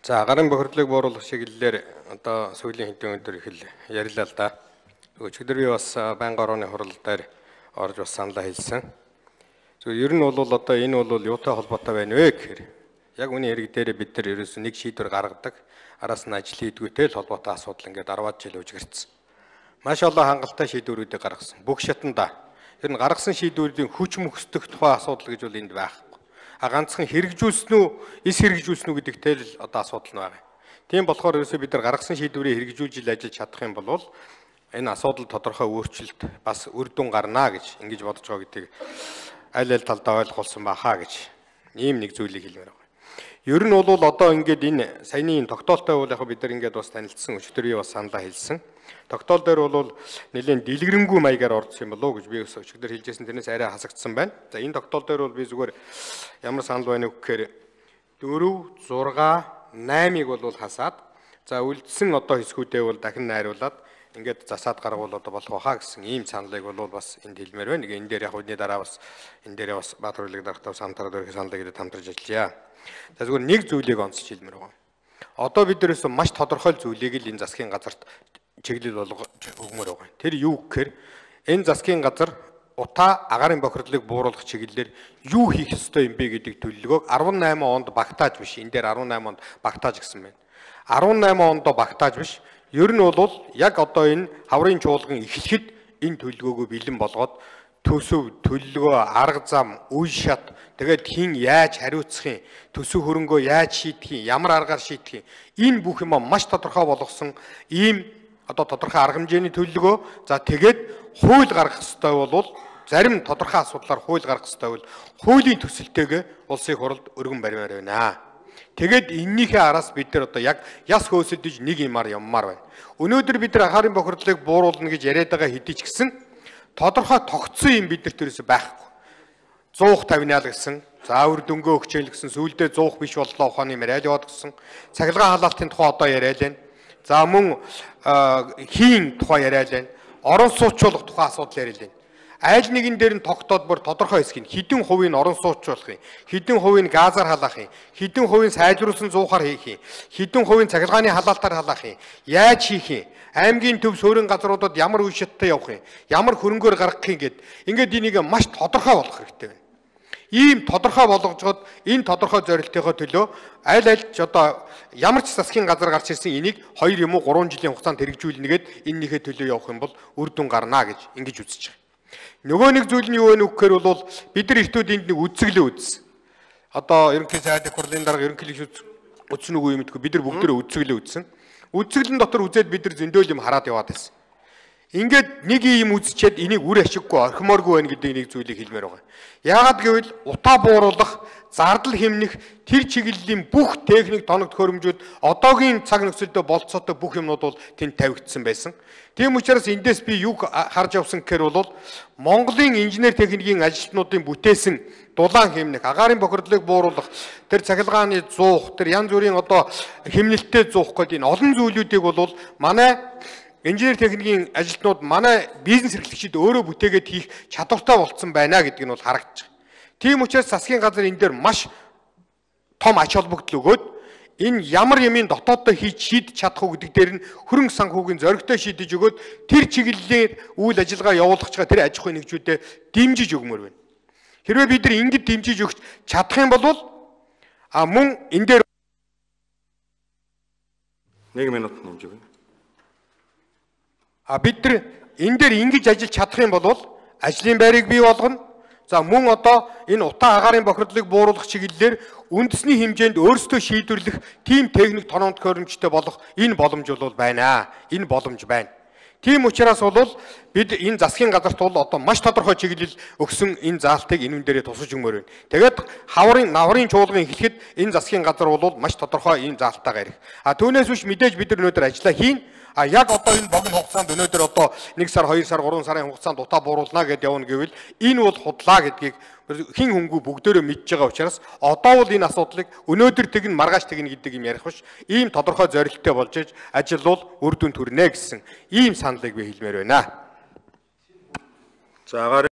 За гарын бохирдлыг бууруулах чиглэлээр одоо сүүлийн хэдэн өдөр их л ярилаа л да. Өчигдөр би бас байнгын орооны хурал дээр орж бас саналаа хэлсэн. Ер нь бол одоо энэ бол юутай холбоотой байна вэ гэхээр яг үүний хэрэг дээр бид нар ерөөсөө нэг шийдвэр гаргадаг, араас нь ажил хийдгүүтэй л холбоотой асуудал ингээд 10-аад жил үжигэрсэн. Маш олон хангалттай шийдвэрүүдийг гаргасан. Бүх шатанда ер нь гаргасан шийдвэрийн хүч мөхсдөх тухай асуудал гэж бол энд байхгүй. Ганцхан хэрэгжүүлсэн үү, эс хэрэгжүүлсэн үү гэдэгтэй л одоо асуудал нь байгаа. Тийм болохоор ерөөсөө бид нар гаргасан шийдвэрийг хэрэгжүүлж ажиллаж чадах юм бол энэ асуудал тодорхой өөрчлөлт бас үр дүн гарна гэж ингэж бодож байгаа гэдгийг аль талдаа ойлгуулсан бахаа гэж ийм нэг зүйлийг хэлмээр байгаа. Ер нь бол одоо ингээд энэ саяны тогтоолтой бол яг бид нар ингээд бас танилцсан өчтөр бас саналаа хэлсэн. Тогтоол дээр бол нэлээд дэлгэрэнгүй маягаар орсон юм болов уу гэж би өчигдөр хэлжсэн, тэрнээс арай хасагдсан байна. За энэ тогтоол дээр бол би зүгээр ямар санал байна вэ гэхээр 4, 6, 8-ыг бол хасаад за үлдсэн одоо хэсгүүдээ бол дахин найруулад ингээд засаад гаргуул одоо болох байхаа гэсэн ийм саналыг бол бас энд хэлмээр байна. Энэ дээр яг үдний дараа бас энэ дээрээ бас Баатар хөлөг дарагтай самтараад өрх саналыг идэ хамтарч ажиллая. За зүгээр нэг зүйлийг онцлж хэлмээр байгаа. Одоо бид нэрээс маш тодорхой зүйлийг л энэ засгийн газарт чиглэл өгмөр байгаа. Тэр юу гэхээр энэ засгийн газар утаа агаарын бохирдлыг бууруулах чиглэлээр юу хийх ёстой юм бэ гэдэг төлөвлөгөөг 18 онд багтааж биш. Энэ дээр 18 онд багтааж гисэн байна. 18 онд багтааж биш. Ер нь бол яг одоо энэ хаврын чуулган эхлэхэд энэ төлөвлөгөөгөө бэлэн болгоод төсөв, төлөвлөгөө, арга зам, үе шат, тэгээд хин яаж хариуцах юм, төсөв хөрөнгөө яаж шийдэх юм, ямар аргаар шийдэх юм, энэ бүх юм маш тодорхой болгосон ийм одоо тодорхой арга хэмжээний төлөвлөгөө. За тэгээд хууль гаргах ёстой бол зарим тодорхой асуудлаар хууль гаргах ёстой бол хуулийн төсөлтэйгээ улсын хурлд өргөн баримаар байна. Тэгээд эннийхээ араас бид нар одоо яг яс хөөсөлдөж нэг юмар явмаар байна. Өнөөдөр бид нар агаарын бохирдлыг бууруулна гэж яриад байгаа хэдий ч гэсэн тодорхой тогтсон юм биднэрт ерөөсөй байхгүй. 150-аад гэсэн, за өр дөнгөө өгчээл гэсэн, сүүлдээ 100 биш боллоо ухааны яриад яваад гэсэн, цахилгаан халаалтын тухай одоо яриад байна. За мөн хийн тухай яриад байна. Орон суучлуулах тухай асуудал яриад байна. Айл нэгэн дээр нь тогтоод бүр тодорхой хэсгийг хэдэн хувийг орон суучлуулах юм, хэдэн хувийг газар халаах юм, хэдэн хувийг сайжруулсан зуухаар хийх юм, хэдэн хувийг цахилгааны халаалтаар халаах юм, яаж хийх юм, аймгийн төв суурин газруудад ямар үе шаттай явах юм, ямар хөрөнгөөр гаргах юм гэд ингээд энийг маш тодорхой болгох хэрэгтэй байна. Ийм тодорхой болгожоод энэ тодорхой зорилтынхоо төлөө аль одоо ямар ч засгийн газар гарч ирсэн энийг 2 юм уу 3 жилийн хугацаанд хэрэгжүүлнэгээд энэнийхээ төлөө явах юм бол үр дүн гарна гэж ингэж үзэж байгаа. Нөгөө нэг зүйл нь юу вэ гэхээр бол бид нар эртүүд энд нэг үзэглээ үзсэн. Одоо ерөнхий сайдын хурлын дарга ерөнхийлөгч үзсэн үгүй юм гэдэггүй бид нар бүгдээ үзэглээ үзсэн. Үзэглэн дотор үзээд бид нар зөндөөл юм хараад яваад байсан. Ингээд нэг юм үзчихэд энийг үр ашиггүй орхимооргүй байна гэдэг нэг зүйлийг хэлмээр байгаа. Яагаад гэвэл утаа бууруулах, зардал хэмнэх тэр чиглэлийн бүх техник тоног төхөөрөмжүүд одоогийн цаг нөхцөлдөө болцоотой бүх юмнууд бол тэнд тавигдсан байсан. Тийм учраас эндээс би юу харж авсан гэхээр бол Монголын инженер техникийн ажилтнуудын бүтээсэн дулаан хэмнэх, агаарын бохирдлыг бууруулах, тэр цахилгааны зуух, тэр янз бүрийн одоо хэмнэлттэй зуух гэдэг энэ олон зүйлүүдийг бол манай инженер техникийн ажилтнууд манай бизнес эрхлэгчид өөрөө бүтээгээд хийх чадвартай болцсон байна гэдэг нь бол харагдаж байна. Тийм учраас засгийн газар энэ дээр маш том ач холбогдол өгөөд энэ ямар юмын дотооддоо хийж шийдэж чадах уу гэдэг дээр нь хөрөнгө санхүүгийн зоригтой шийдэж өгөөд тэр чиглэлээр үйл ажиллагаа явуулах чигээ тэр аж ахуйн нэгжүүдэд дэмжиж өгмөр байна. Хэрвээ бид нар ингэж дэмжиж өгч чадах юм бол мөн энэ дээр 1 минут нэмж өгнө. Бид нар энэ дээр ингэж ажиллаж чадах юм бол ажлын байрыг бий болгоно. За мөн одоо энэ утаа агаарын бохирдлыг бууруулах чиглэлээр үндэсний хэмжээнд өөрсдөө шийдвэрлэх тийм техник тоног төхөөрөмжтэй болох энэ боломж бол байна. Энэ боломж байна. Тийм учраас бол бид энэ засгийн газарт бол одоо маш тодорхой чиглэл өгсөн энэ заалтыг энэ дээрээ тусаж өгмөр байна. Тэгээд наврын чуулган эхлэхэд энэ засгийн газар бол маш тодорхой энэ заалтаагаар ирэх. Түүнээс биш мэдээж бид нар өнөөдөр ажиллаа хийн. Яг одоо энэ богино хугацаанд өнөөдөр одоо 1 сар, 2 сар, 3 сарын хугацаанд утаа бууруулна гэдээ явна гэвэл энэ бол худлаа гэдгийг хин хөнгүү бүгдөө мэдж байгаа учраас одоо бол энэ асуудлыг өнөөдөр тэгнэ маргааш тэгнэ гэдэг юм ярих биш. Ийм тодорхой зорилттой болж иж ажил бол үр дүн төрнэ гэсэн ийм саналыг би хэлмээр байна. За агаарын